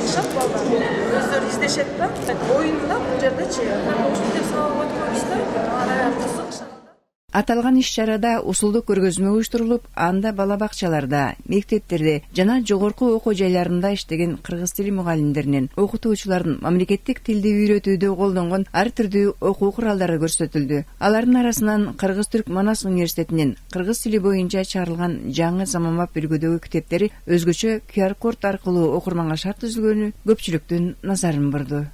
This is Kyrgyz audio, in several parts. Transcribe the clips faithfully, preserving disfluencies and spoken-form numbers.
кылышат балдар, өздөрү издешет да. Оюн да бул жердечи. Ушинтип сабак өтүп койбуз да. Ана кызык. Аталган иш-чарада усулдук көргөзмө уюштурулуп, анда бала бакчаларда, мектептерде жана жогорку окуу жайларында иштеген кыргыз тили мугалимдеринин, окутуучулардын мамлекеттик тилди үйрөтүүдө колдонгон ар түрдүү окуу куралдары көрсөтүлдү. Алардын арасынан Кыргыз-Түрк Манас университетинин кыргыз тили боюнча чыгарылган жаңы заманбап үлгүдөгү китептери өзгөчө ку ар код аркылуу окурманга шарт түзүлгөнү көпчүлүктүн назарын бурду.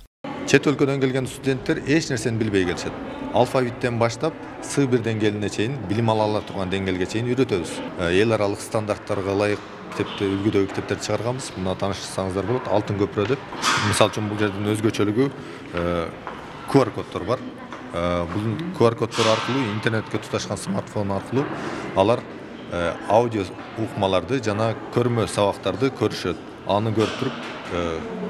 Чет өлкөдөн келген студенттер эч нерсени билбей келишет. Алфавиттен баштап С бир деңгээлине чейин, билим ала ала турган деңгээлге чейин үйрөтөбүз. Эл аралык стандарттарга ылайык китепти, үлгүдөгү китептерди чыгарганбыз. Мына таанышсаңыздар болот, Алтын көпүрө деп. Мисалы үчүн бул жердин өзгөчөлүгү ку ар коддор бар. Бул ку ар коддор аркылуу интернетке туташкан смартфон аркылуу алар аудио укмаларды жана көрмө сабактарды көрүшөт. Аны көрүп туруп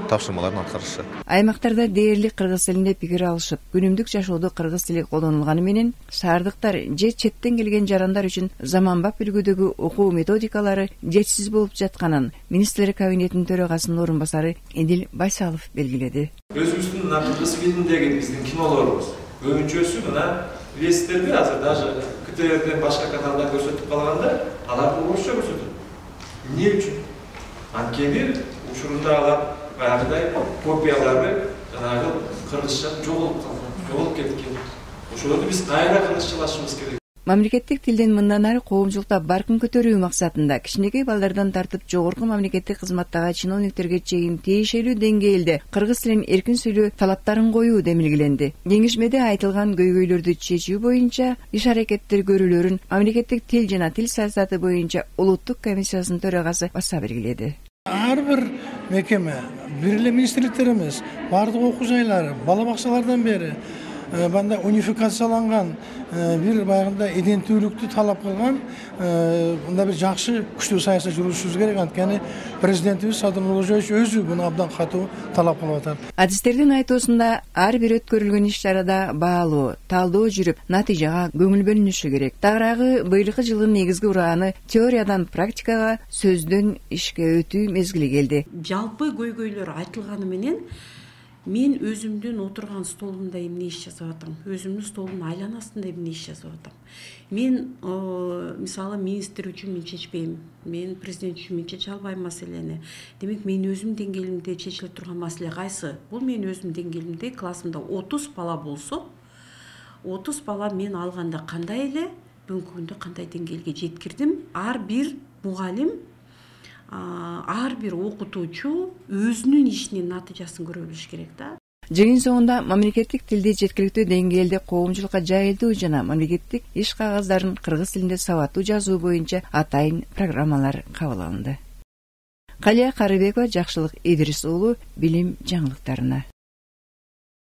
тапшырмаларын аткарышат. Аймактарда дээрлик кыргыз тилинде пикир алышып, күнүмдүк жашоодо кыргыз тили колдонулганы менен шаардыктар же четтен келген жарандар үчүн заманбап үлгүдөгү окуу методикалары жетишсиз болуп жатканын министрлер кабинетинин төрагасынын орун басары Эдил Байсалов белгиледи. Өзүбүздүн мына кыргыз фильминдеги биздин кинолорубуз көбүнчөсү мына билесиздерби, азыр даже ка тэ эрден башка каналда көрсөтүп калганда аларды орусча көрсөтөт. Эмне үчүн? Анткени учурунда алар баягыдай копиялары жанагы кыргызча жоголуп калган, жоголуп кеткен. Ошолорду биз кайра кыргызчалашыбыз керек. Мамлекеттик тилден мындан ары коомчулукта баркын көтөрүү максатында кичинекей балдардан тартып жогорку мамлекеттик кызматтагы чиновниктерге чейин тиешелүү деңгээлде кыргыз тилин эркин сүйлөө талаптарын коюу демилгеленди. Кеңешмеде айтылган көйгөйлөрдү чечүү боюнча иш аракеттер көрүүлөрүн мамлекеттик тил жана тил саясаты боюнча улуттук комиссиясынын төрагасы баса белгиледи. Ар бир мекеме, бир эле министрликтер эмес, бардык окуу жайлары, бала бакчалардан бери банда унификацияланган, бир баягында иденттүүлүктү талап кылган, мында бир жакшы күчтүү саясат жүргүзүшүбүз керек. Анткени президентибиз Садыр Нуркожоевич өзү буну абдан катуу талап кылып атат. Адистердин айтуусунда ар бир өткөрүлгөн иш-чарада баалуу, талдоо жүрүп, натыйжага көңүл бөлүнүшү керек. Тагыраагы быйылкы жылдын негизги урааны теориядан практикага, сөздөн ишке өтүү мезгили келди. Жалпы көйгөйлөр айтылганы менен мен өзүмдүн отурган столумда эмне иш жасап атам, өзүмдүн столумдун айланасында эмне иш жасап атам. Мен мисалы министр үчүн мен чечпейм, мен президент үчүн мен чече албайм маселени. Демек мен өзүмдүн деңгээлимде чечиле турган маселе кайсы? Бул мен өзүмдүн деңгээлимде классымда отуз бала болсо, отуз бала мен алганда кандай эле, бүгүнкү күндө кандай деңгээлге жеткирдим? Ар бир мугалим, ар бир окутуучу өзүнүн ишинин натыйжасын көрө билиш керек да. Жыйын соңунда мамлекеттик тилди жеткиликтүү деңгээлде коомчулукка жайылтуу жана мамлекеттик иш кагаздарын кыргыз тилинде сабаттуу жазуу боюнча атайын программалар кабыл алынды. Калия Карыбекова, Жакшылык Идрис уулу, билим жаңылыктарына.